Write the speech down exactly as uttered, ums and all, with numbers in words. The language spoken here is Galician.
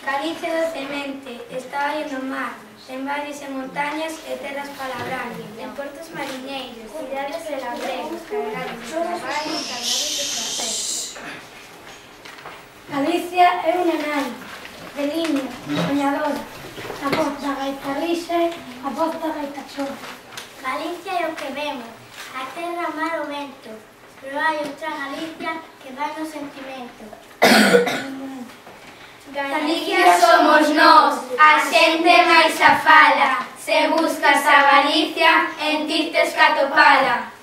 Galicia docemente, está aí no mar, en valles e montañas e terras para labrar, en portos mariñeiros, cidades e labregos, cargados de traballo e cargados de placer. Galicia é unha nai, de liña, soñadora, a voz da gaita rixe, a voz da gaita chora. Galicia é o que vemos, a terra, o mar, o vento, pero hai outra Galicia que vai no sentimento. Galicia somos nós, a xente máis a fala. Se buscas a Galicia, en ti tes que atopala.